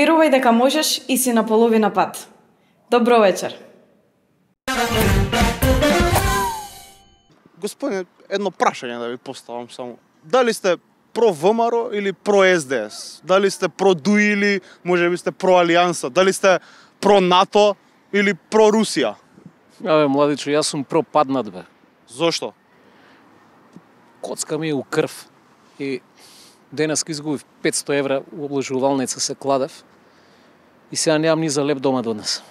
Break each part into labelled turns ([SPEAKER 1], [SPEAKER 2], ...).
[SPEAKER 1] Верувај дека можеш и си на половина пат. Добро вечер.
[SPEAKER 2] Господине, едно прашање да ви поставам само. Дали сте про ВМРО или про СДС? Дали сте про ДУИ или можеби сте про Алијанса? Дали сте про НАТО или про Русија?
[SPEAKER 3] Абе, младичо, јас сум пропаднат, бе.
[SPEAKER 2] Зошто?
[SPEAKER 3] Коцка ми е у крв. И денеска изгубив 500 евра у обложувалница се кладев. И сега немам ни за леп дома до днес.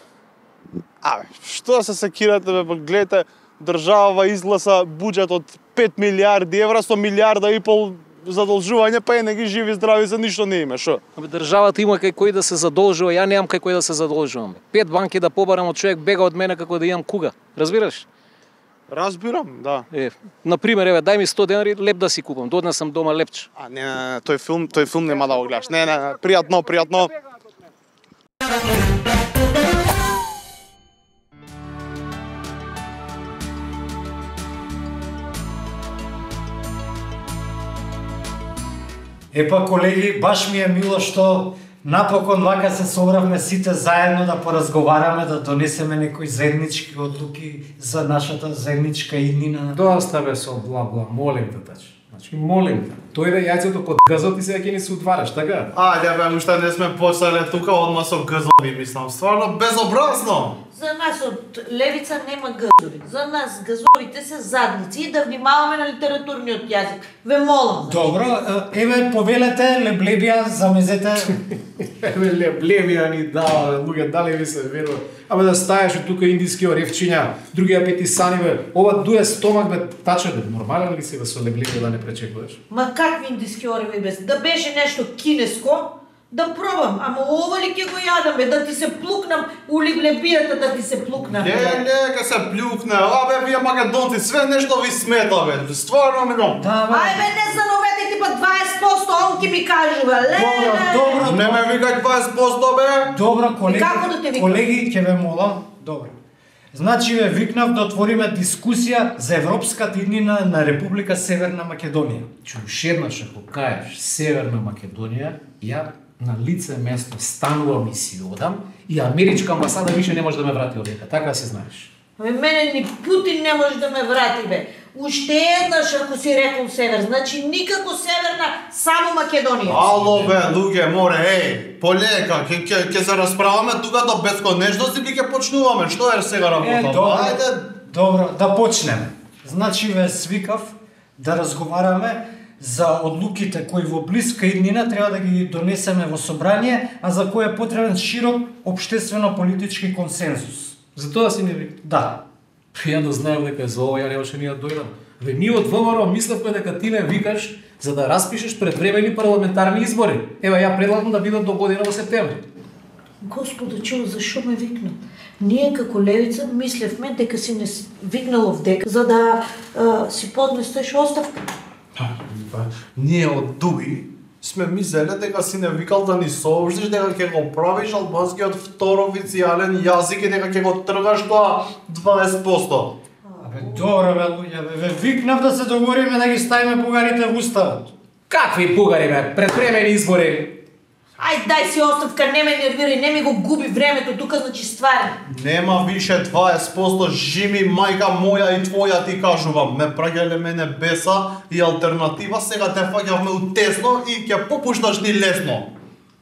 [SPEAKER 2] Абе, што да се секирате, бе, па гледате, држава изгласа буџет од 5 милиарди евра со милиарда и пол задолжување, па не ги живи здрави за ништо не има, шо?
[SPEAKER 3] Абе, државата има кај кој да се задолжува, ја немам кај кој да се задолжувам. 5 банки да побарам од човек бега од мене како да имам куга. Разбираш?
[SPEAKER 2] Разбирам, да.
[SPEAKER 3] Например, еве, дај ми 100 денари, леп да си купам. Доднес сам дома лепче.
[SPEAKER 2] Не, тој филм нема да го гледаш. Не, пријатно.
[SPEAKER 4] Епа, колеги, баш ми е мило што напокон вака се собравме сите заедно да поразговараме, да донесеме некои заеднички одлуки за нашата заедничка иднина.
[SPEAKER 5] Доста бе со бла-бла, молим те, тачи. Значи, молим те. Тој да јајцето под газот и сега ќе ни се утвараш, така?
[SPEAKER 6] Ајде бе, уште не сме почнале тука одма со газови, мислам. Стварно безобразно.
[SPEAKER 7] За нас од левица нема газови. За нас газовите се задници и да внимаваме на литературниот јазик. Ве молам.
[SPEAKER 4] Добро, еве повелете, леблебија, замезете.
[SPEAKER 5] Еве леблебија ни дава, луѓе, дали ви се верува? Абе да стаеш тука индиски оревчиња, другија пети сани бе, ова дуе стомак бе, таче бе, нормален ли си бе со леблебија да не пречекуваш?
[SPEAKER 7] Ма какви индиски ореви бе? Да беше нешто кинеско, да пробам, ама ова ли ќе го јадам бе, да ти се плукнам у леблебијата, да ти се плукнам.
[SPEAKER 6] Не, ке се плюкне, абе вие македонци, све нешто ви смета бе, стварно милом.
[SPEAKER 7] Ајде не зановете типа 20%, он ќе ми кажува,
[SPEAKER 4] Добро.
[SPEAKER 6] Не ме викај 20% бе.
[SPEAKER 4] Добро, колеги,
[SPEAKER 7] Како да те викам?
[SPEAKER 4] колеги, ќе ве молам. Добро. Значи ве викнав да отвориме дискусија за европската иднина на Република Северна Македонија.
[SPEAKER 5] Уште еднаш ако кажеш Северна Македонија, ја на лице место станувам и си одам и америчка амбасада више не може да ме врати овдека, така се знаеш.
[SPEAKER 7] Абе мене ни Путин не може да ме врати бе. Уште еднаш ако си рекол север, значи никако северна, само Македонија.
[SPEAKER 6] Ало бе, луѓе, море, полека, ќе се расправаме тука до бесконечност или ќе почнуваме? Што е сега работа? Ајде.
[SPEAKER 4] Добро, да почнеме. Значи ве свикав да разговараме за одлуките кои во блиска иднина треба да ги донесеме во собрание, а за кои е потребен широк општествено-политички консензус.
[SPEAKER 5] За тоа си не вик.
[SPEAKER 4] Да.
[SPEAKER 5] Ја да знаем дека за ова ја немаше ни да дојдам. Ве ние од ВМРО мислевме дека ти ме викаш за да распишеш предвремени парламентарни избори. Ева ја предлагам да бидат до година во септември.
[SPEAKER 7] Господи, чу, зашо ме викна? Ние како левица мислевме дека си не викнал овдека за да си поднесеш оставка.
[SPEAKER 6] Ние од ДУИ сме мислеле дека си не викал да ни сообщиш дека ќе го правиш албанскиот втор официјален јазик и дека ќе го тргаш тоа 20%.
[SPEAKER 4] Абе, добро бе, луѓе, ве викнав да се договориме да ги ставиме бугарите во уставот.
[SPEAKER 5] Какви бугари бе? Предвремени избори.
[SPEAKER 7] Ај дај си оставка, не ме нервирај, не ми го губи времето тука, значи стварно.
[SPEAKER 6] Нема више 20%, жими мајка моја и твоја ти кажувам. Ме праќале мене беса и алтернатива, сега те фаќавме у тесно и ќе попушташ ни лесно.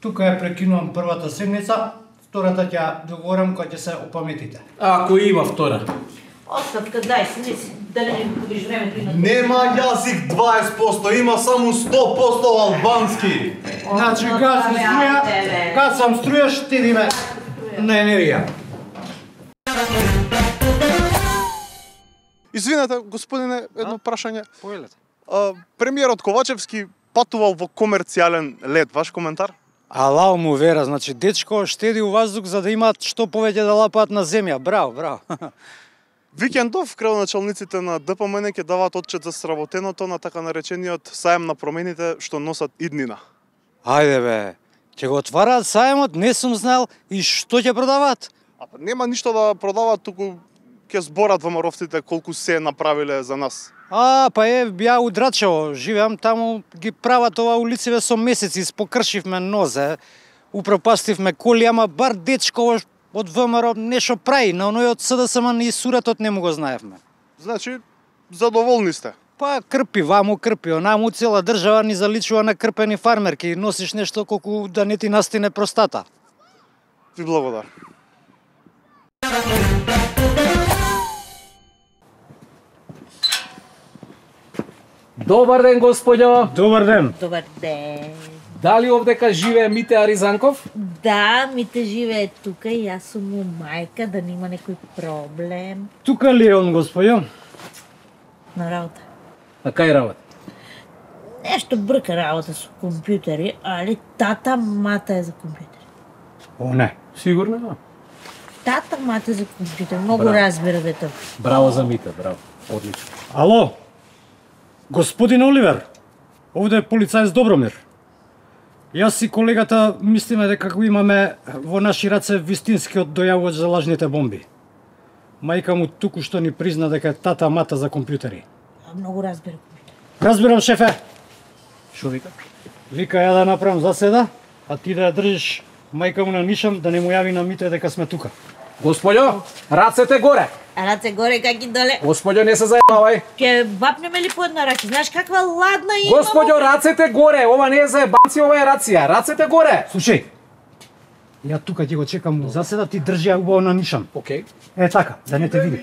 [SPEAKER 4] Тука ја прекинувам првата седница, втората ќе договорам кога ќе се опаметите.
[SPEAKER 5] Ако има втора.
[SPEAKER 7] Оставка, дај си, не си, да не ми губиш времето и на това.
[SPEAKER 6] Нема јазик 20%, има само 100% албански.
[SPEAKER 4] Значи, кад сам струја, штедиме на енергија.
[SPEAKER 2] Извинете, господине, едно прашање.
[SPEAKER 3] Повелете.
[SPEAKER 2] Премиерот Ковачевски патувал во комерцијален лет, ваш коментар?
[SPEAKER 4] Алау му вера, значи дечко штеди у воздух за да имаат што повеќе да лапаат на земја. Браво, браво.
[SPEAKER 2] Викендов градоначалниците на ДПМН ќе даваат отчет за сработеното на така наречениот саем на промените што носат иднина.
[SPEAKER 4] Ајде бе, ќе го отвараат саемот, не сум знал и што ќе продаваат?
[SPEAKER 2] Нема ништо да продаваат, туку ќе зборат ВМРО-вците колку се направиле за нас.
[SPEAKER 4] Па ја у Драчево живеам, таму ги прават ова улициве со месеци, спокршивме нозе. Упропастивме коли, ама бар дечко од ВМРО нешто прави, на оној од СДСМ ни суретот не му го знаевме.
[SPEAKER 2] Значи, задоволни сте?
[SPEAKER 4] Па крпи ваму, крпи онаму, цела држава ни заличува на крпени фармерки, носиш нешто колку да не ти настине простата.
[SPEAKER 2] Ви благодарам.
[SPEAKER 3] Добар ден, господјо.
[SPEAKER 4] Добар ден.
[SPEAKER 7] Добар ден.
[SPEAKER 3] Дали овдека живее Мите Аризанков?
[SPEAKER 7] Да, Мите живее тука и јас сум му мајка, да нема некој проблем.
[SPEAKER 4] Тука ли е он, господјо?
[SPEAKER 7] На работа.
[SPEAKER 3] А кај работа?
[SPEAKER 7] Нешто брка работа со компјутери, али тата мата е за компјутери.
[SPEAKER 4] О, не.
[SPEAKER 3] Сигурно да.
[SPEAKER 7] Тата мата е за компјутер, многу
[SPEAKER 3] Браво.
[SPEAKER 7] разбира дете.
[SPEAKER 3] Браво за Мите, браво. Одлично.
[SPEAKER 4] Ало? Господин Оливер, овде е полицаец Добромир. Јас и колегата мислиме дека го имаме во наши раце вистинскиот дојавувач за лажните бомби. Мајка му туку што ни призна дека е тата мата за компјутери.
[SPEAKER 7] Многу разбира компјутер.
[SPEAKER 4] Разбирам, шефе.
[SPEAKER 3] Шо вика?
[SPEAKER 4] Вика ја да направам заседа, а ти да ја држиш мајка му на нишам да не му јави на Мите дека сме тука.
[SPEAKER 3] Господјо, рацете горе.
[SPEAKER 7] Раце горе как и доле.
[SPEAKER 3] Господјо, не се заебавај.
[SPEAKER 7] Ќе вапнеме ли по една рака? Знаеш каква ладна има?
[SPEAKER 3] Господјо, рацете горе. Ова не е заебанци, ова е рација. Рацете горе.
[SPEAKER 4] Слушај, ја тука ќе го чекам заседа, ти држи ја убаво на нишам.
[SPEAKER 3] Океј.
[SPEAKER 4] Е така, да не те види.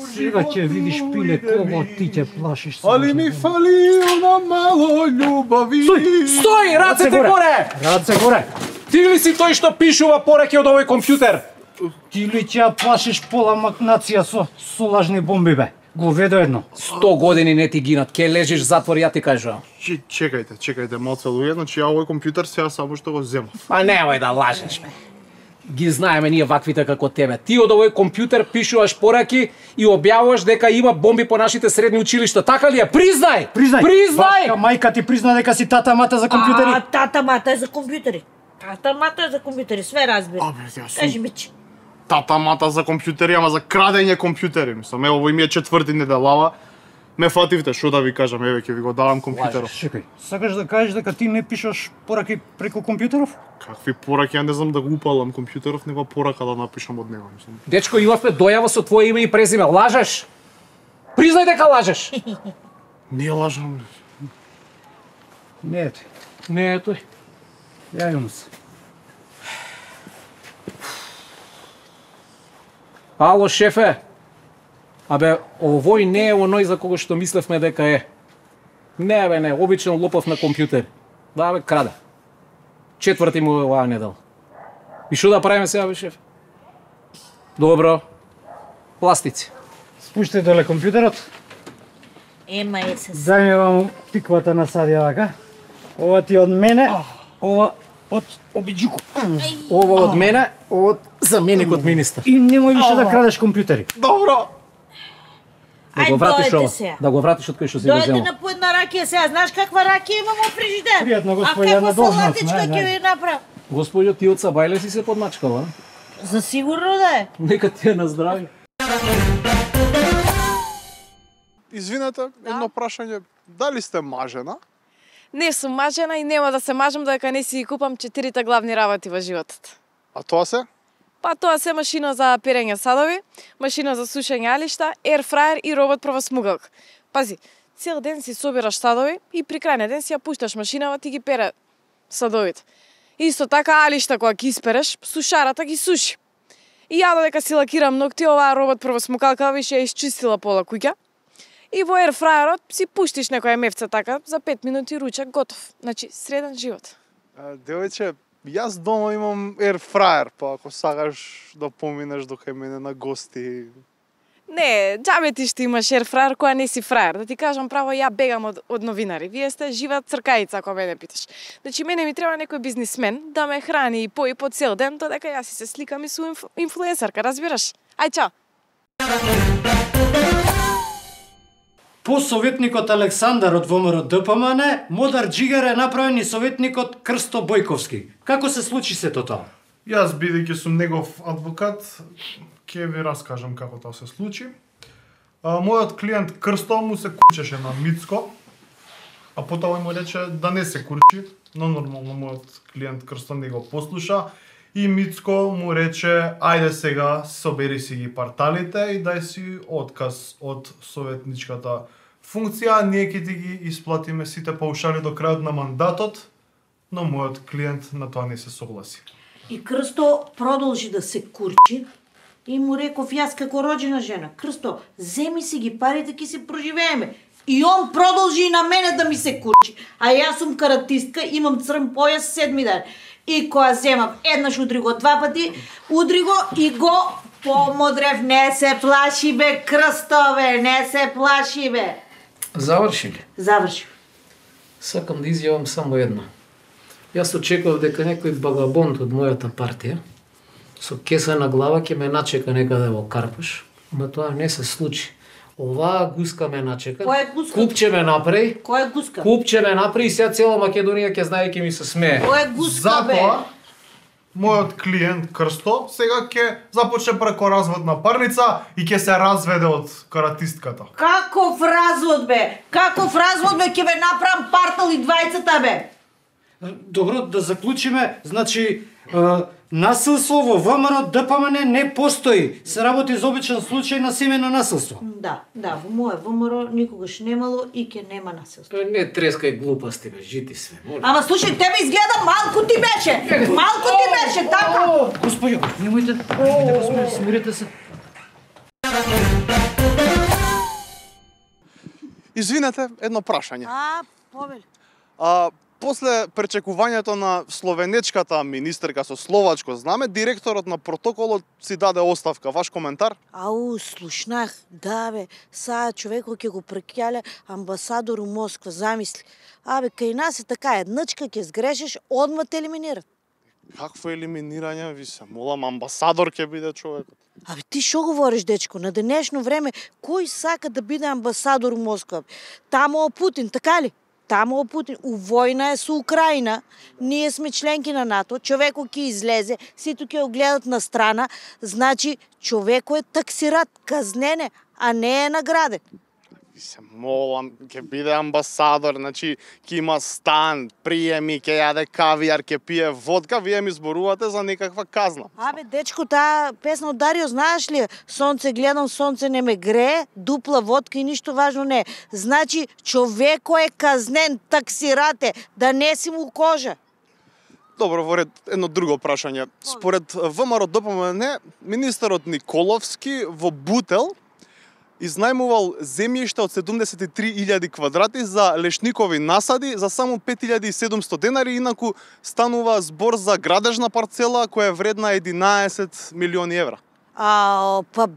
[SPEAKER 4] Сега ќе видиш пиле кого ти ќе плашиш.
[SPEAKER 2] Али ми фали она мало љубави.
[SPEAKER 3] Стој, рацете горе.
[SPEAKER 4] Раце горе.
[SPEAKER 3] Ти ли си тој што пишува пораки од овој компјутер?
[SPEAKER 4] Ти ли ќе ја плашиш пола нација со лажни бомби, бе? Го ведо едно.
[SPEAKER 3] 100 години не ти гинат, ке лежиш затвор, ја ти кажувам.
[SPEAKER 2] Чекајте, малце луѓе, значи ја овој компјутер сега само што го земав.
[SPEAKER 3] Па немој да лажеш, бе. Ги знаеме ние ваквите како тебе. Ти од овој компјутер пишуваш пораки и објавуваш дека има бомби по нашите средни училишта. Така ли е? Признај!
[SPEAKER 4] Вашка мајка ти призна дека си тата мата за компјутери.
[SPEAKER 7] А, тата мата е за компјутери. Тата мата е за компјутери, све разбира.
[SPEAKER 2] Абе, јас сум
[SPEAKER 7] Кажи ми че.
[SPEAKER 2] тата мата за компјутери, ама за крадење компјутери, мислам. Ево, овој ми е четврти неделава. Ме фативте, што да ви кажам, еве ќе ви го давам компјутерот.
[SPEAKER 4] Чекај, сакаш да кажеш дека ти не пишеш пораки преку компјутеров?
[SPEAKER 2] Какви пораки, ја не знам да го упалам компјутеров, нема порака да напишам од него, мислам.
[SPEAKER 3] Дечко, имавме дојава со твое име и презиме. Лажеш? Признај дека лажеш.
[SPEAKER 2] Не лажам.
[SPEAKER 4] Не е тој.
[SPEAKER 3] Не е тој.
[SPEAKER 4] Јавим се.
[SPEAKER 3] Ало, шефе. Абе, овој не е оној за кого што мислевме дека е. Не, бе, не, обичен лопов на компјутер. Да, бе, краде. Четврти му е оваа недела. И што да правиме сега, бе, шеф? Добро. Пластици.
[SPEAKER 4] Спуштај доле компјутерот.
[SPEAKER 7] Ема е се.
[SPEAKER 4] Дај ми вам тиквата на Садија вака. Ова ти од мене, ова од обиджуко.
[SPEAKER 3] Ова од мене, ова од заменикот министар.
[SPEAKER 4] И немој више да крадеш компјутери.
[SPEAKER 2] Добро!
[SPEAKER 3] Да го
[SPEAKER 7] Ај,
[SPEAKER 3] вратиш
[SPEAKER 7] дојдете
[SPEAKER 3] ова.
[SPEAKER 7] сега.
[SPEAKER 3] Да го вратиш од кој што си го
[SPEAKER 7] Дојде
[SPEAKER 3] земал.
[SPEAKER 7] на по една ракија сега. Знаеш каква ракија имам во фрижидер?
[SPEAKER 4] Пријатно, господје,
[SPEAKER 7] А
[SPEAKER 4] на
[SPEAKER 7] каква
[SPEAKER 4] должност,
[SPEAKER 7] салатичка
[SPEAKER 4] не,
[SPEAKER 7] ќе
[SPEAKER 4] не.
[SPEAKER 7] ви направам?
[SPEAKER 3] Господјо, ти од Сабајле си се подмачкала, а?
[SPEAKER 7] За сигурно да е.
[SPEAKER 3] Нека ти е на здравје.
[SPEAKER 2] Извинете, едно прашање. Дали сте мажена?
[SPEAKER 1] Не сум мажена и нема да се мажам додека не си ги купам 4 главни работи во животот.
[SPEAKER 2] А тоа се?
[SPEAKER 1] Па тоа се машина за перење садови, машина за сушење алишта, ерфраер и робот првосмугалка. Пази, цел ден си собираш садови и при крајниот ден си ја пушташ машинава ти ги пере садовите. Исто така алишта кога ги испереш, сушарата ги суши. И ја додека си лакирам ногти, оваа робот првосмукалка више ја исчистила пола куќа. И во ерфраерот си пуштиш некоја мевца така, за 5 минути ручек готов. Значи, среден живот.
[SPEAKER 2] Девојче, јас дома имам ерфраер, па ако сакаш да поминеш до кај мене на гости.
[SPEAKER 1] Не, џабе ти што имаш ерфраер која не си фраер. Да ти кажам право, ја бегам од новинари. Вие сте жива цркајица, ако мене питаш. Значи, мене ми треба некој бизнисмен да ме храни и пои по цел ден, додека јас си се сликам и сум инфлуенсерка, разбираш? Ај, чао!
[SPEAKER 4] По советникот Александар од ВМРО ДПМН, Модар Џигер е направен и советникот Крсто Бојковски. Како се случи сето тоа?
[SPEAKER 6] Јас, бидејќи сум негов адвокат, ќе ви раскажам како тоа се случи. Мојот клиент Крсто му се кучеше на Мицко. а потоа му рече да не се курчи, но нормално мојот клиент Крсто не го послуша и Мицко му рече ајде сега собери си ги парталите и дај си отказ од советничката функција, ние ќе ти ги исплатиме сите паушали до крајот на мандатот, но мојот клиент на тоа не се согласи.
[SPEAKER 7] И Крсто продолжи да се курчи и му реков јас како роđена жена, Крсто, земи си ги парите, ќе се проживееме. И он продолжи и на мене да ми се курчи. А јас сум каратистка, имам црн појас 7 ден. И која земав еднаш удри го 2 пати, удри го и го помодрев. Не се плаши бе, Крстове, не се плаши бе.
[SPEAKER 3] Заврши ли?
[SPEAKER 7] Заврши.
[SPEAKER 3] Сакам да изјавам само едно. Јас очекував дека некој багабонт од мојата партија со кеса на глава ќе ме начека некаде во Карпуш, ама тоа не се случи. Оваа гуска ме начека.
[SPEAKER 7] Која гуска?
[SPEAKER 3] Купче ме направи.
[SPEAKER 7] Која гуска?
[SPEAKER 3] Купче ме направи и сега цела Македонија ќе знае и ќе ми се смее.
[SPEAKER 7] Која гуска бе?
[SPEAKER 6] Затоа мојот клиент Крсто сега ќе започне преко разводна парница и ќе се разведе од каратистката.
[SPEAKER 7] Каков развод бе? Каков развод бе? Ќе ве направам партал и двајцата бе.
[SPEAKER 4] Добро, да заклучиме, значи насилство во ВМРО ДПМН не постои. Се работи за обичен случај на семено насилство.
[SPEAKER 7] Да, во моје ВМРО никогаш немало и ќе нема насилство.
[SPEAKER 3] Не трескај глупости бе, жити све. Моля.
[SPEAKER 7] Ама слушај, тебе изгледа малку ти беше. Малку ти беше, така.
[SPEAKER 4] Господјо, немојте го смирете се.
[SPEAKER 2] Извинете, едно прашање.
[SPEAKER 7] Повели.
[SPEAKER 2] После пречекувањето на словенечката министерка со словачко знаме, директорот на протоколот си даде оставка. Ваш коментар?
[SPEAKER 7] Слушнах, да бе, саа човекот ќе го прекјале амбасадор у Москва, замисли. Кај нас е така, едничка ќе сгрешиш, одма те елиминират.
[SPEAKER 2] Какво елиминирање, ви се молам, амбасадор ќе биде човекот.
[SPEAKER 7] Ти шо говориш, дечко? На денешно време, кој сака да биде амбасадор у Москва? Тамо Путин, така ли? Тамо Путин, у војна е со Украина, ние сме членки на НАТО, човекот ќе излезе, сите ќе го гледат на страна, значи човекот е таксират, казнене, а не е награден.
[SPEAKER 2] Ви се молам, ќе биде амбасадор, значи ќе има стан, приеми, ќе јаде кавијар, ќе пие водка, вие ми зборувате за некаква казна.
[SPEAKER 7] Дечко, таа песна од Дарио, знаеш ли? Сонце гледам, сонце не ме грее, дупла водка и ништо важно не е. Значи, човеко е казнен, таксирате, да не си му кожа.
[SPEAKER 2] Добро, во ред, едно друго прашање. Според ВМРО ДПМН, министерот Николовски во Бутел изнајмувал земјиште од 73.000 квадрати за лешникови насади за само 5.700 денари, инаку станува збор за градежна парцела која е вредна 11 милиони евра.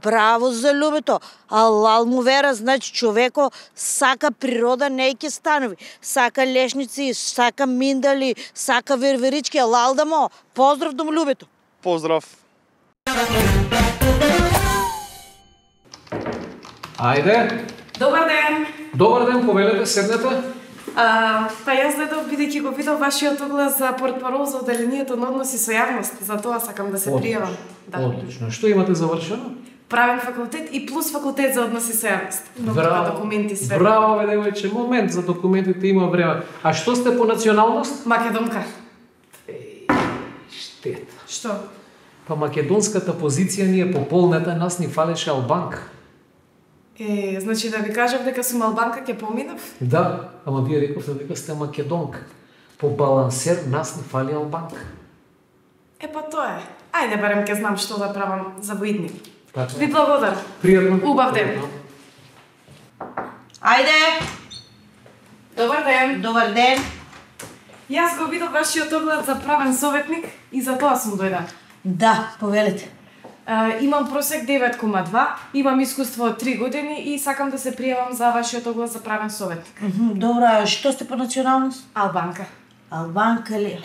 [SPEAKER 7] Браво за љубето. Алал му вера, значи човеко сака природа, не ќе станови. Сака лешници, сака миндали, сака верверички, алал да му. Поздрав до љубето.
[SPEAKER 2] Поздрав.
[SPEAKER 3] Ајде.
[SPEAKER 1] Добар ден.
[SPEAKER 3] Добар ден, повелете, седнете.
[SPEAKER 1] Јас гледав, бидејќи го видов вашиот оглас за портпарол за одделението на односи со јавност, за тоа сакам да се пријавам.
[SPEAKER 3] Одлично. Што имате завршено?
[SPEAKER 1] Правен факултет и плюс факултет за односи со јавност. Документи све.
[SPEAKER 3] Браво, бе, девојче, момент, за документите има време. А што сте по националност?
[SPEAKER 1] Македонка.
[SPEAKER 3] Штета.
[SPEAKER 1] Што?
[SPEAKER 3] Па македонската позиција ни е пополнета, нас ни фалеше албанка.
[SPEAKER 1] Значи да ви кажам дека сум албанка ќе поминав?
[SPEAKER 3] Да, ама вие рековте дека сте македонка. По балансер нас ни фали албанка.
[SPEAKER 1] Па тоа е. Ајде барем ќе знам што да правам за воидни.
[SPEAKER 3] Така.
[SPEAKER 1] Ви благодарам.
[SPEAKER 3] Пријатно.
[SPEAKER 1] Убав ден.
[SPEAKER 7] Ајде!
[SPEAKER 1] Добар ден.
[SPEAKER 7] Добар ден.
[SPEAKER 1] Јас го видов вашиот оглед за правен советник и за тоа сум дојдена.
[SPEAKER 7] Да, повелете.
[SPEAKER 1] Имам просек 9,2, имам искуство од 3 години и сакам да се пријавам за вашиот оглас за правен советник.
[SPEAKER 7] Добра, што сте по националност?
[SPEAKER 1] Албанка.
[SPEAKER 7] Албанка ли?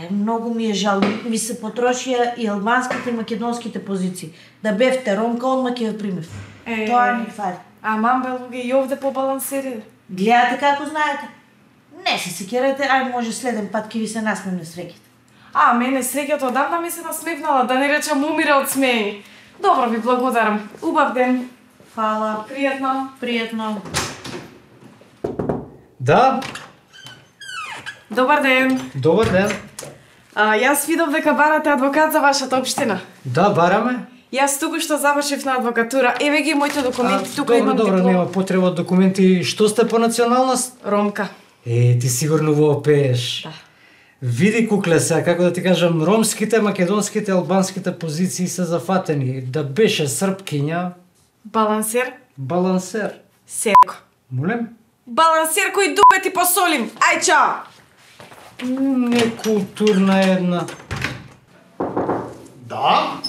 [SPEAKER 7] Многу ми е жал. Ми се потрошија и албанските и македонските позиции. Да бевте ромка, одма ќе ве примев. Тоа ни фали.
[SPEAKER 1] Мамбе луѓе и овде побалансери.
[SPEAKER 7] Гледате како знаете. Не се секирате, може следен пат ќе ви се насмевне среќите.
[SPEAKER 1] Мене среќата одамна ми се насмевнала, да не речам умира од смејни. Добро, ви благодарам. Убав ден.
[SPEAKER 7] Фала.
[SPEAKER 1] Пријатно.
[SPEAKER 7] Пријатно.
[SPEAKER 4] Да,
[SPEAKER 1] Добар ден.
[SPEAKER 4] Добар ден.
[SPEAKER 1] Јас видов дека барате адвокат за вашата општина.
[SPEAKER 4] Да, бараме.
[SPEAKER 1] Јас току-што завршив на адвокатура. Еве ги моите документи, тука имам
[SPEAKER 4] Добро,
[SPEAKER 1] диплома.
[SPEAKER 4] нема потреба од документи. Што сте по националност?
[SPEAKER 1] Ромка.
[SPEAKER 4] Ти сигурно во пееш.
[SPEAKER 1] Да.
[SPEAKER 4] Види, кукле, сега, како да ти кажам, ромските, македонските, албанските позиции се зафатени. Да беше српкиња,
[SPEAKER 1] Балансер.
[SPEAKER 4] балансер.
[SPEAKER 1] Серко.
[SPEAKER 4] Молем?
[SPEAKER 1] Балансер кој дупе ти посолим. Ај, чао.
[SPEAKER 4] Некултурна една.
[SPEAKER 2] Да?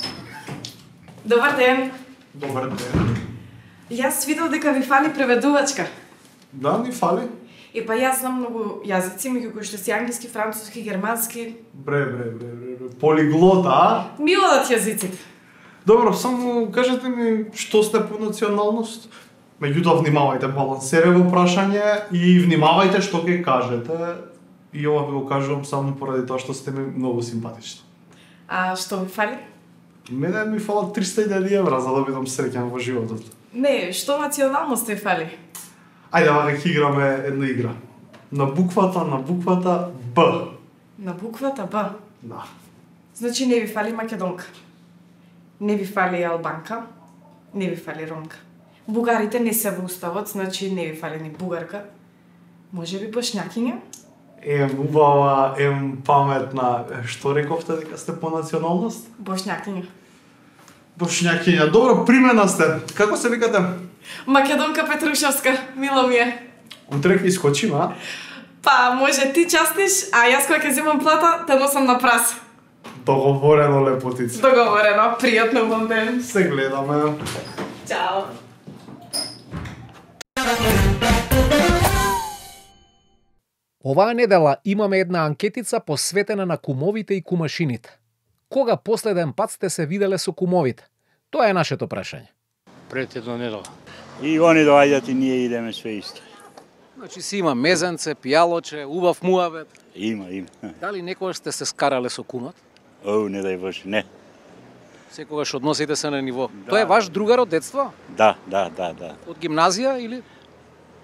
[SPEAKER 1] Добар ден.
[SPEAKER 2] Добар ден.
[SPEAKER 1] Јас видов дека ви фали преведувачка.
[SPEAKER 2] Да, ни фали?
[SPEAKER 1] Па јас знам многу јазици, меѓу кои што си англиски, француски, германски.
[SPEAKER 2] Бре. Полиглота, а?
[SPEAKER 1] Ми одат јазиците.
[SPEAKER 2] Добро, само кажете ми што сте по националност? Меѓутоа внимавајте, балансерево прашање и внимавајте што ќе кажете. И ова ви го кажувам само поради тоа што сте ми многу симпатични.
[SPEAKER 1] А што ви фали?
[SPEAKER 2] Мене ми фалат 300.000 евра за да бидам среќен во животот.
[SPEAKER 1] Не, што националност ви фали?
[SPEAKER 2] Ајде, вака ќе играме една игра. На буквата Б.
[SPEAKER 1] На буквата Б.
[SPEAKER 2] Да.
[SPEAKER 1] Значи не ви фали македонка. Не ви фали албанка. Не ви фали ромка. Бугарите не се во уставот, значи не ви фали ни бугарка. Може би бошњакиња?
[SPEAKER 2] Убава, паметна. Што рековте дека сте по националност?
[SPEAKER 1] Бошњакиња.
[SPEAKER 2] Бошњакиња. Добро, примена сте. Како се викате?
[SPEAKER 1] Македонка Петрушевска, мило ми е.
[SPEAKER 2] Утре ќе искочиме, а?
[SPEAKER 1] Па, може ти частиш, а јас кога ќе земам плата, те носам на прас.
[SPEAKER 2] Договорено, лепотица.
[SPEAKER 1] Договорено, пријатно вам ден.
[SPEAKER 2] Се гледаме.
[SPEAKER 1] Чао.
[SPEAKER 3] Оваа недела имаме една анкетица посветена на кумовите и кумашините. Кога последен пат сте се виделе со кумовите? Тоа е нашето прашање.
[SPEAKER 8] Пред една недела. И они доаѓаат и ние идеме све исто.
[SPEAKER 3] Значи си има мезенце, пијалоче, убав муавет.
[SPEAKER 8] Има.
[SPEAKER 3] Дали некогаш сте се скарале со кумот?
[SPEAKER 8] О, не дај Боже, не.
[SPEAKER 3] Секогаш односите се на ниво.
[SPEAKER 8] Да.
[SPEAKER 3] Тоа е ваш другар од детство?
[SPEAKER 8] Да.
[SPEAKER 3] Од гимназија или?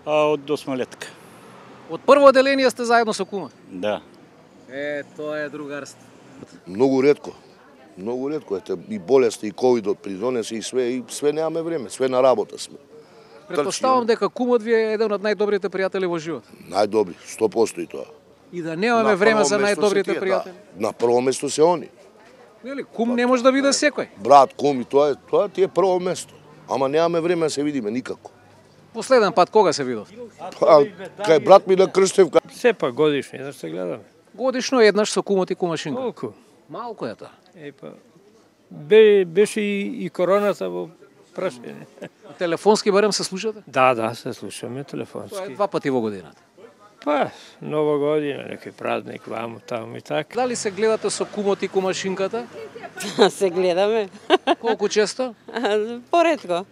[SPEAKER 8] Од 8-летка.
[SPEAKER 3] Од прво оделение сте заедно со кумот?
[SPEAKER 8] Да.
[SPEAKER 3] Тоа е другарство.
[SPEAKER 9] Многу ретко. Многу ретко. Ете, и болести, и ковидот придонесе и све немаме време, све на работа сме.
[SPEAKER 3] Претпоставам дека кумот ви е еден од најдобрите пријатели во живот.
[SPEAKER 9] Најдобри, 100% и тоа.
[SPEAKER 3] И да немаме време за најдобрите
[SPEAKER 9] тие,
[SPEAKER 3] пријатели.
[SPEAKER 9] Да. На прво место се они.
[SPEAKER 3] Нели, кум не може да биде секој.
[SPEAKER 9] Брат, кум и тоа ти е прво место. Ама немаме време да се видиме никако.
[SPEAKER 3] Последен пат кога се видов?
[SPEAKER 9] Па, кај брат ми на Крстевка.
[SPEAKER 10] Сепак годишно, еднаш се гледаме.
[SPEAKER 3] Годишно еднаш со кумот и кумашинка.
[SPEAKER 10] Колку?
[SPEAKER 3] Малку е тоа.
[SPEAKER 10] Беше и короната во прашање.
[SPEAKER 3] Телефонски барем се слушате?
[SPEAKER 10] Да, се слушаме
[SPEAKER 3] Тоа е
[SPEAKER 10] телефонски.
[SPEAKER 3] 2 пати во годината.
[SPEAKER 10] Па, нова година, некој празник, ваму, таму и така.
[SPEAKER 3] Дали се гледате со кумот и кумашинката?
[SPEAKER 11] Се гледаме.
[SPEAKER 3] Колку често?
[SPEAKER 11] Поретко.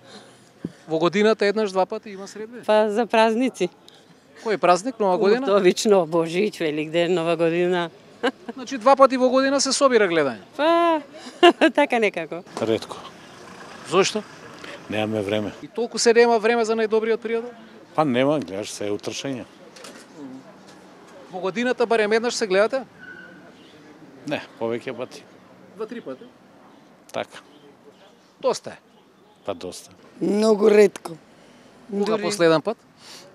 [SPEAKER 3] Во годината еднаш, 2 пати има средби?
[SPEAKER 11] Па за празници.
[SPEAKER 3] Кој празник, Нова година?
[SPEAKER 11] Обично Божич, Великден, Нова година.
[SPEAKER 3] Значи 2 пати во година се собира гледање.
[SPEAKER 11] Па, така некако.
[SPEAKER 8] Ретко.
[SPEAKER 3] Зошто?
[SPEAKER 8] Немаме време.
[SPEAKER 3] И толку се нема време за најдобриот пријател?
[SPEAKER 8] Па нема, гледаш се утршање.
[SPEAKER 3] Во годината барем еднаш се гледате?
[SPEAKER 8] Не, повеќе пати.
[SPEAKER 3] 2-3 пати?
[SPEAKER 8] Така.
[SPEAKER 3] Доста е.
[SPEAKER 8] Па доста.
[SPEAKER 12] Многу ретко.
[SPEAKER 3] Кога последен пат?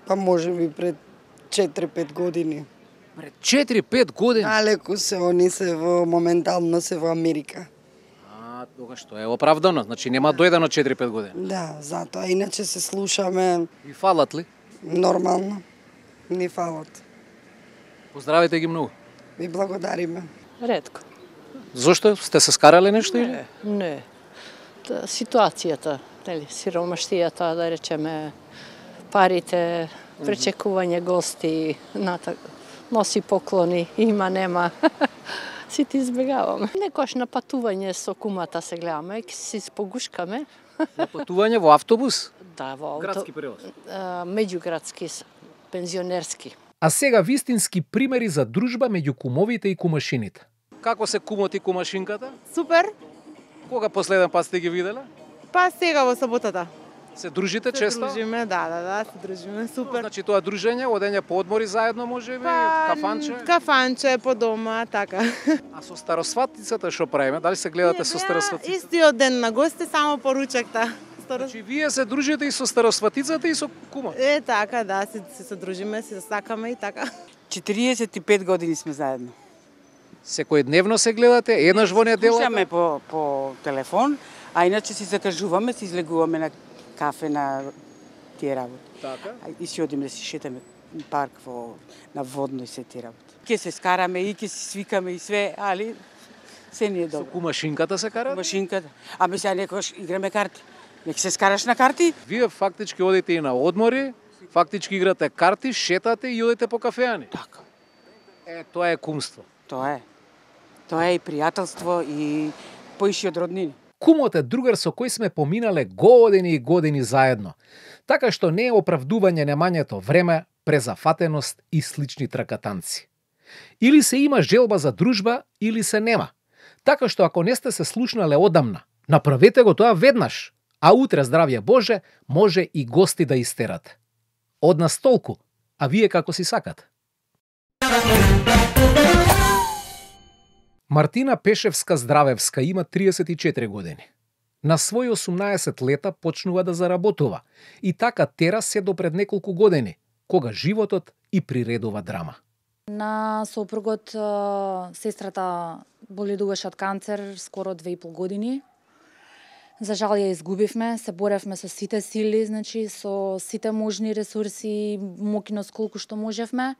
[SPEAKER 12] Па може би пред 4-5 години.
[SPEAKER 3] Пред 4-5 години?
[SPEAKER 12] Налеку се, они се моментално се во Америка.
[SPEAKER 3] Тогаш тоа е оправдано, значи нема дојдено 4-5 години.
[SPEAKER 12] Да, затоа иначе се слушаме.
[SPEAKER 3] Ви фалат ли?
[SPEAKER 12] Нормално. Ни фалат.
[SPEAKER 3] Поздравите ги многу.
[SPEAKER 12] Ви благодариме.
[SPEAKER 13] Ретко.
[SPEAKER 3] Зошто? Сте се скарале нешто или?
[SPEAKER 13] Не. Ситуацијата, нели, сиромаштијата, да речеме, парите, пречекување гости, носи поклони, има, нема. Си ти избегаваме. Некош на патување со кумата се гледаме, си спогушкаме.
[SPEAKER 3] На патување во автобус?
[SPEAKER 13] Да, во
[SPEAKER 3] Градски превоз?
[SPEAKER 13] Меѓуградски, пензионерски.
[SPEAKER 3] А сега вистински примери за дружба меѓу кумовите и кумашините. Како се кумот и кумашинката?
[SPEAKER 14] Супер.
[SPEAKER 3] Кога последен пат сте ги виделе?
[SPEAKER 14] Па сега во саботата.
[SPEAKER 3] Се дружите често?
[SPEAKER 14] Се дружиме, да, се дружиме, супер.
[SPEAKER 3] Значи тоа дружење, одење по одмори заедно можеби, кафанче?
[SPEAKER 14] Кафанче по дома, така.
[SPEAKER 3] А со старосватицата што правиме? Дали се гледате со старосватицата?
[SPEAKER 14] Истиот ден на гости, само поручакта.
[SPEAKER 3] Значи вие се дружите и со старосватицата и со кумот?
[SPEAKER 14] Така, да, се дружиме, се сакаме и така.
[SPEAKER 12] 45 години сме заедно.
[SPEAKER 3] Секојдневно се гледате, еднаш во неделата?
[SPEAKER 12] Слушаме по телефон, а иначе си закажуваме, си излегуваме на кафе на тие работи.
[SPEAKER 3] Така?
[SPEAKER 12] И си одиме да си шетаме парк на Водно и се тие работи. Ке се скараме и ке си свикаме и све, али се ни е добро.
[SPEAKER 3] Со кумашинката се карате?
[SPEAKER 12] Кумашинката. Ами сега некојаш играме карти. Нека се скараш на карти.
[SPEAKER 3] Вие фактички одите и на одмори, фактички играте карти, шетате и одите по кафеани.
[SPEAKER 12] Така.
[SPEAKER 3] Тоа е кумство.
[SPEAKER 12] Тоа е. Тоа е и пријателство и поише од роднини.
[SPEAKER 3] Кумот е другар со кој сме поминале години и години заедно. Така што не е оправдување немањето време, презафатеност и слични тракатанци. Или се има желба за дружба, или се нема. Така што ако не сте се слушнале одамна, направете го тоа веднаш, а утре, здравје Боже, може и гости да истерате. Од нас толку, а вие како си сакате. Мартина Пешевска-Здравевска има 34 години. На своји 18 лета почнува да заработува и така тера се до пред неколку години, кога животот и приредува драма.
[SPEAKER 15] На сопругот сестрата боледуваше од канцер скоро 2,5 години. За жал ја изгубивме, се боревме со сите сили, значи со сите можни ресурси, мокиност колку што можевме.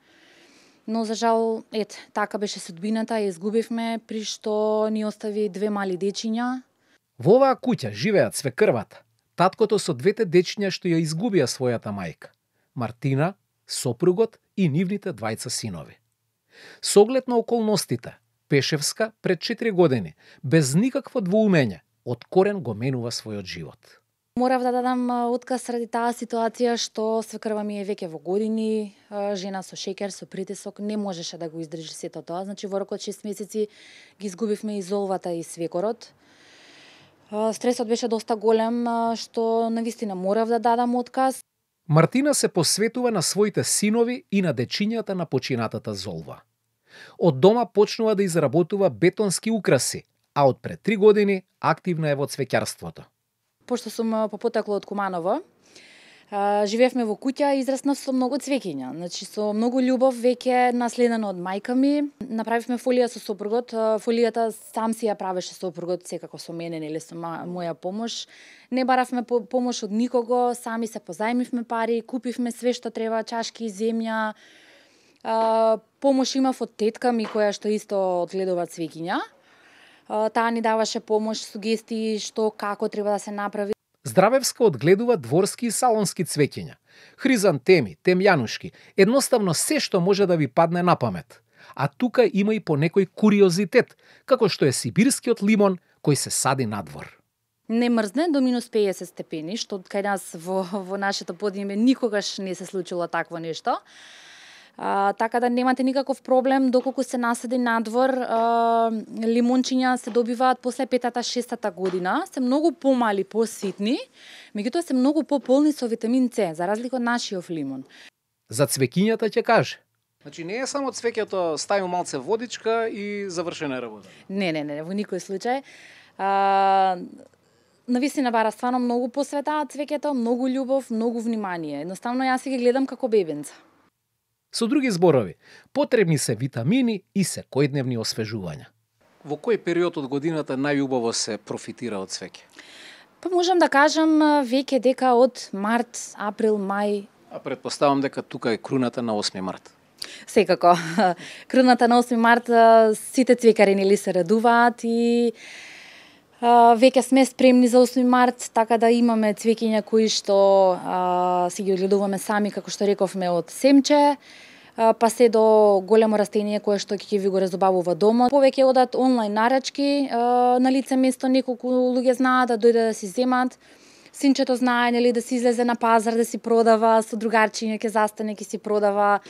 [SPEAKER 15] Но за жал, така беше судбината, ја изгубивме, при што ни остави 2 мали дечиња.
[SPEAKER 3] Во оваа куќа живеат свекрвата, таткото со 2 дечиња што ја изгубија својата мајка, Мартина, сопругот и нивните 2 синови. Со оглед на околностите, Пешевска пред 4 години, без никакво двоумење, од корен го менува својот живот.
[SPEAKER 15] Морав да дадам отказ ради таа ситуација што свекрва ми е веќе во години, жена со шеќер, со притисок, не можеше да го издржи сето тоа. Значи во рокот 6 месеци ги изгубивме и золвата и свекорот. Стресот беше доста голем, што навистина морав да дадам отказ.
[SPEAKER 3] Мартина се посветува на своите синови и на дечињата на починатата золва. Од дома почнува да изработува бетонски украси, а од пред 3 години активна е во цвеќарството.
[SPEAKER 15] Пошто сум попотекло од Куманово, живеевме во куќа и израснав со многу цвеќиња. Значи со многу љубов, веќе наследено од мајка ми. Направивме фолија со сопругот. Фолијата сам си ја правеше сопругот, секако со мене, нели со моја помош. Не баравме помош од никого, сами се позајмивме пари, купивме све што треба, чашки, земја. Помош имав од тетка ми која што исто одгледува цвеќиња. Таа ни даваше помош, сугестии што како треба да се направи.
[SPEAKER 3] Здравевска одгледува дворски и салонски цвеќиња, хризантеми, темјанушки, едноставно се што може да ви падне на памет. А тука има и по некој куриозитет, како што е сибирскиот лимон кој се сади надвор.
[SPEAKER 15] Не мрзне до минус 50 степени, што кај нас во нашето подиме никогаш не се случило такво нешто. Така да немате никаков проблем доколку се насади надвор. Лимончиња се добиваат после 5-6 година, се многу помали, поситни, меѓутоа се многу пополни со витамин С, за разлика од нашиот лимон.
[SPEAKER 3] За цвеќињата ќе каже. Значи не е само цвеќето, ставим малце водичка и завршена работа.
[SPEAKER 15] Не, во никој случај. Навистина бара стварно многу посвета цвеќето, многу љубов, многу внимание. Едноставно јас си ги гледам како бебенца.
[SPEAKER 3] Со други зборови, потребни се витамини и секојдневни освежувања. Во кој период од годината најубаво се профитира од цвеќе?
[SPEAKER 15] Па можам да кажам веќе дека од март, април, мај.
[SPEAKER 3] А предпоставам дека тука е круната на 8 март.
[SPEAKER 15] Секако. Круната на 8 март сите цвекари нели се радуваат и веќе сме спремни за 8 март, така да имаме цвеќиња кои што си ги одгледуваме сами, како што рековме, од семче, па се до големо растение кое што ќе ви го разобавува домот. Повеќе одат онлайн нарачки, на лице место неколку луѓе знаат да дојдат да си земат. Синчето знае нели да си излезе на пазар да си продава, со другарчиња ќе застане ќе си продава.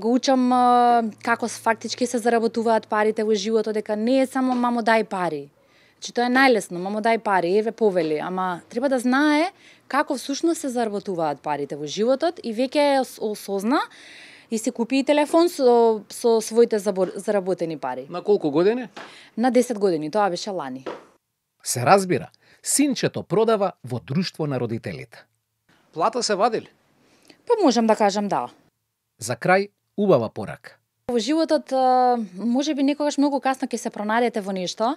[SPEAKER 15] Го учам како фактички се заработуваат парите во животот, дека не е само мамо дај пари. Значи тоа е најлесно, мамо дај пари, еве повели, ама треба да знае како всушност се заработуваат парите во животот и веќе осозна и се купи и телефон со своите заработени пари.
[SPEAKER 3] На колку години?
[SPEAKER 15] На 10 години, тоа беше лани.
[SPEAKER 3] Се разбира, синчето продава во друштво на родителите. Плата се вадили?
[SPEAKER 15] Па можам да кажам да.
[SPEAKER 3] За крај, убава порака.
[SPEAKER 15] Во животот, може би некогаш многу касно ќе се пронајдете во нешто.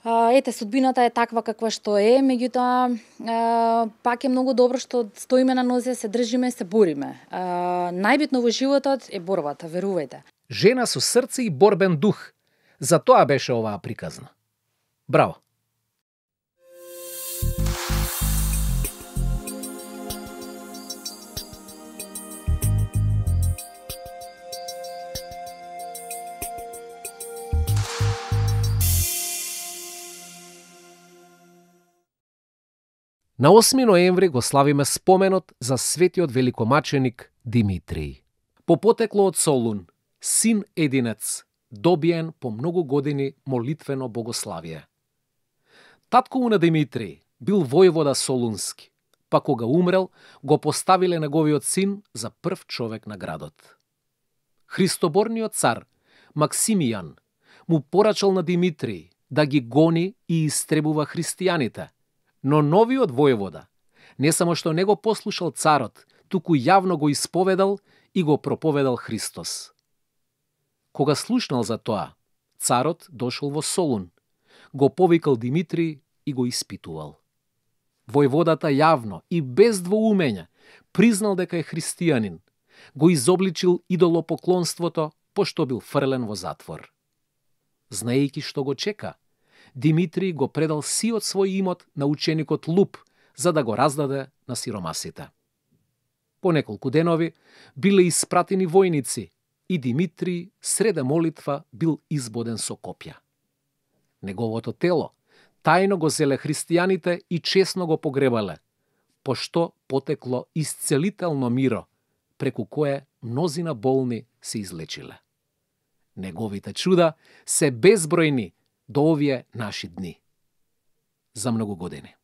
[SPEAKER 15] Ете, судбината е таква каква што е, меѓутоа пак е многу добро што стоиме на нозе, се држиме, се бориме. Најбитно во животот е борбата, верувајте.
[SPEAKER 3] Жена со срце и борбен дух. За тоа беше оваа приказна. Браво! На 8 ноември го славиме споменот за светиот великомаченик Димитрий. По потекло од Солун, син единец, добиен по многу години молитвено богославие. Татко на Димитрий бил војвода Солунски, па кога умрел, го поставиле неговиот син за прв човек на градот. Христоборниот цар Максимијан му порачал на Димитрий да ги гони и истребува христијаните, но новиот војвода не само што не го послушал царот, туку јавно го исповедал и го проповедал Христос. Кога слушнал за тоа, царот дошол во Солун, го повикал Димитрий и го испитувал. Војводата јавно и без двоумење признал дека е христијанин, го изобличил идолопоклонството, пошто бил фрлен во затвор. Знаејќи што го чека, Димитрий го предал сиот свој имот на ученикот Луп, за да го раздаде на сиромасите. По неколку денови биле испратени војници и Димитрий среде молитва бил избоден со копја. Неговото тело тајно го зеле христијаните и честно го погребале, пошто потекло исцелително миро, преку кое мнозина болни се излечиле. Неговите чуда се безбројни до овие наши дни. За многу години.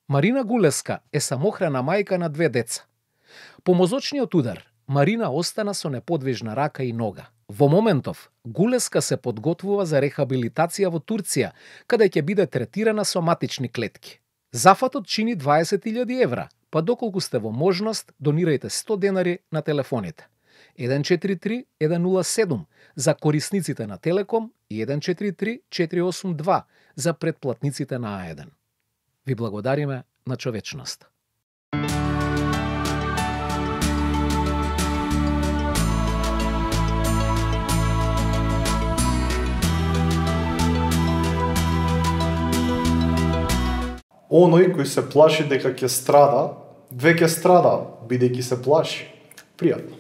[SPEAKER 3] Марина Гулеска е самохрана мајка на 2 деца. По мозочниот удар, Марина остана со неподвижна рака и нога. Во моментов, Гулеска се подготвува за рехабилитација во Турција, каде ќе биде третирана со матични клетки. Зафатот чини 20.000 евра, па доколку сте во можност, донирајте 100 денари на телефоните. 143-107 за корисниците на Телеком и 143-482 за претплатниците на А1. Ви благодариме на човечност.
[SPEAKER 6] Оној кој се плаши дека ќе страда, веќе страда, бидејќи се плаши. Пријатно.